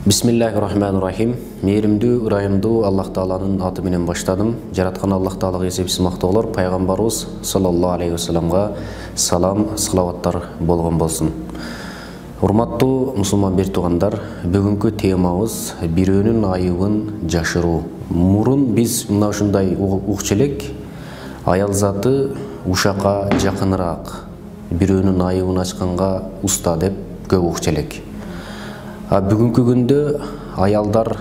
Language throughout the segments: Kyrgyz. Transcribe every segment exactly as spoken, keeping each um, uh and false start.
Бисмиллахир-рахманир-рахим. Мээримдүү, ырайымдуу Аллах Тааланын аты менен баштадым. Жараткан Аллах Таалага эсепсиз мактоолор пайгамбарыбыз саллаллаху алейхи ва салламга салам, салаваттар болгон болсун. Урматтуу мусулман бир туугандар, бүгүнкү темабыз бирөөнүн айыбын жашыруу. Мурун биз мына ушундай укчу элек, аял заты ушакка жакыныраак, бирөөнүн айыбын ачканга уста деп көп укчу элек. А бүгүнкү күндө аялдар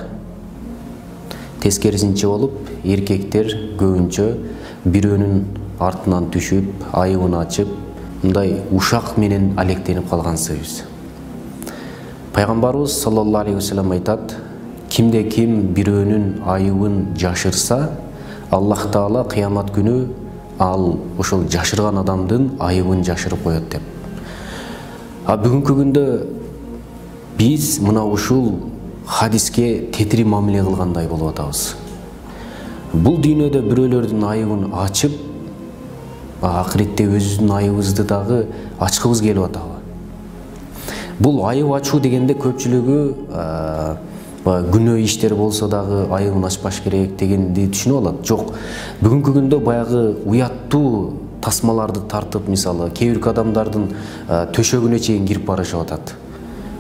тескерисинче болуп, эркектер көбүнчө бирөөнүн артынан түшүп, айыбын ачып, мындай ушак менен алектенип калгансыбыз. Пайгамбарыбыз саллаллаху алейхи ва саллям айтат: кимде ким бирөөнүн айыбын жашырса, Аллах Таала кыямат күнү ал ошол жашырган адамдын айыбын жашырып коет деп. А бүгүнкү күндө биз мына ушул хадиске тетири мамиле кылгандай болуп атабыз. Бул дүйнөдө бирөөлөрдүн айыбын ачып, акыретте өзүбүздүн айыбыбызды дагы ачкыбыз келип атабы? Бул айып ачуу дегенде көпчүлүгү күнөө иштер болсо дагы айыбын ачпаш керек дегенди түшүнүп алат. Жок, бүгүнкү күндө баягы уяттуу тасмаларды тартып, мисалы, кээ бир адамдардын төшөгүнө чейин кирип барышып атат.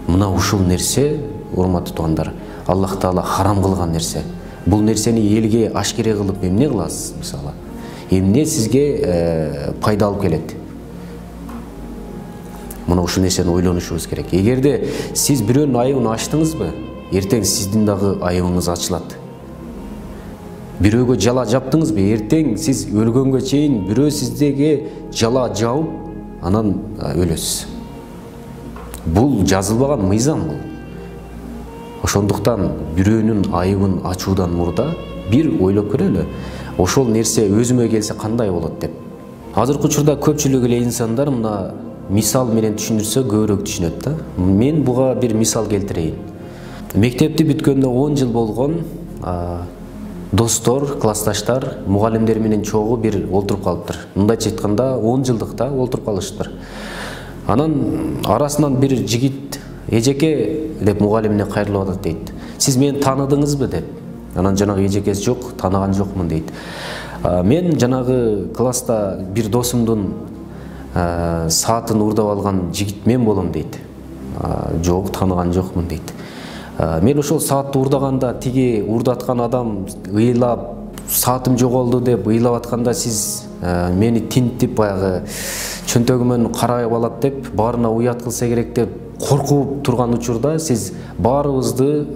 Мына ушул нерсе, урматтуу туугандар, Аллах Таала харам кылган нерсе. Бул нерсени элге ашкере кылып эмне кыласыз, мисалы? Эмне сизге пайда алып келет? Мына ушул нерсени ойлонушубуз керек. Эгерде сиз бирөөнүн айыбын ачтыңызбы, эртең сиздин дагы айыбыңыз ачылат. Бирөөгө жала жаптыңызбы, эртең сиз өлгөнгө чейин бирөө сиздеге жала жауып, анан өлөсүз. Бул жазылбаган мыйзам бул. Ошондуктан бирөөнүн айыбын ачуудан мурда бир ойлоп көрөлү. Ошол нерсе өзүмө келсе кандай болот деп. Азыркы учурда көпчүлүк эле инсандар мына мисал менен түшүндүрсө көбүрөөк түшүнөт да. Мен буга бир мисал келтирейин. Мектепти бүткөндө он жыл болгон достор, классташтар, мугалимдер менен чогуу бир олтуруп калыптыр. Мындайча айтканда он жылдыкта олтуруп калышыптыр. Анан арасынан бир жигит: эжеке деп мугалимине кайрылып атат дейт. Сиз мени тааныдыңызбы деп. Анан жанагы эжекеси: жок, тааныган жокмун дейт. Мен жанагы класста бир досумдун саатын урдап алган жигит мен болом дейт. Жок, тааныган жокмун дейт. Мен ошол саатты урдаганда тиги урдаткан адам ыйлап, саатым жоголду деп ыйлап атканда сиз мени тинтип баягы чөнтөгүмөн карап алат деп, баарына уят кылса керек деп коркуп турган учурда сиз баарыбызды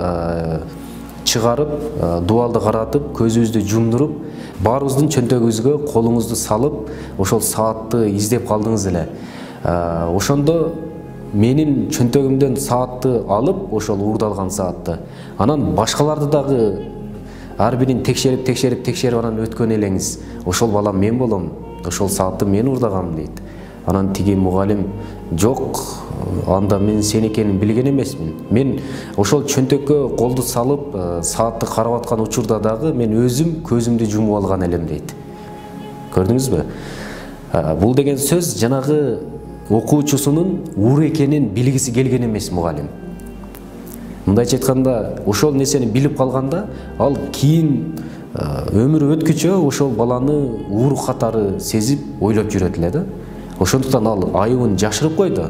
чыгарып, дубалды каратып, көзүбүздү жумдуруп, баарыбыздын чөнтөгүбүзгө колуңузду салып, ошол саатты издеп калдыңыз эле. Ошондо менин чөнтөгүмдөн саатты алып, ошол урдалган саатты, анан башкаларды дагы ар бирин текшерип, текшерип, текшерип анан өткөн элеңиз: ошол балам мен болом, ошол саатты мен урдагам дейт. Анан тиги мугалим: жок, анда мен сен экенин билген эмесмин. Мен ошол чөнтөккө колду салып, саатты карап аткан учурда дагы мен өзүм көзүмдү жумуп алган элем дейт. Көрдүңүзбү? Бул деген сөз жанагы окуучусунун уур экенин билгиси келген эмес мугалим. Мындайча айтканда, ошол нерсени билип калганда, ал кийин өмүрү өткүчө ошол баланы уур катары сезип, ойлоп жүрөт эле да. Ошондуктан ал айыбын жашырып койду.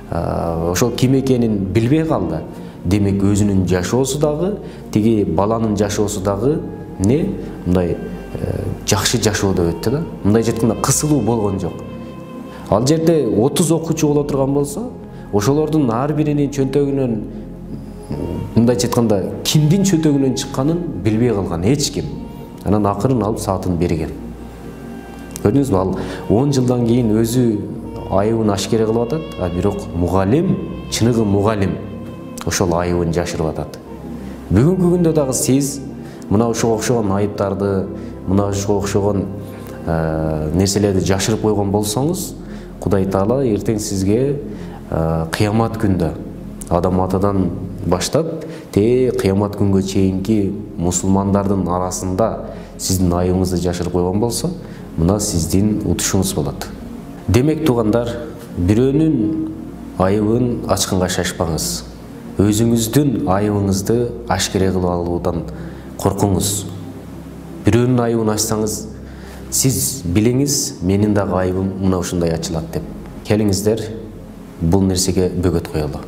Ошол ким экенин билбей калды. Демек өзүнүн жашоосу дагы, тиги баланын жашоосу дагы не? Мындай жакшы жашоодо өттү да. Мындайча айтканда кысылуу болгон жок. Ал жерде отуз окуучу боло турган болсо, ошолордун ар биринин чөнтөгүнөн, мындайча айтканда, кимдин чөнтөгүнөн чыкканын билбей калган эч ким. Анан акырын алып саатын берген. Көрдүңүзбү? Ал он жылдан кийин өзү айыбын ашкере кылып атат, а бирок мугалим, чыныгы мугалим, ошол айыбын жашырып атат. Бүгүнкү күндө дагы сиз мына ошого окшогон айыптарды, мына ошого окшогон нерселерди жашырып койгон болсоңуз, Кудай Таала эртең сизге кыямат күндө адам атадан баштап, те кыямат күнгө чейинки мусулмандардын арасында сиздин айыбыңызды жашырып койгон болсо, мына сиздин утушуңуз болот. Демек туугандар, бирөөнүн айыбын ачканга шашпаңыз. өзүңүздүн айыбыңызды ашкере кылып алуудан коркуңуз. Бирөөнүн айыбын ачсаңыз, сиз билиңиз, менин дагы айыбым мына ушундай ачылат деп. Келиңиздер, бул нерсеге бөгөт коелу.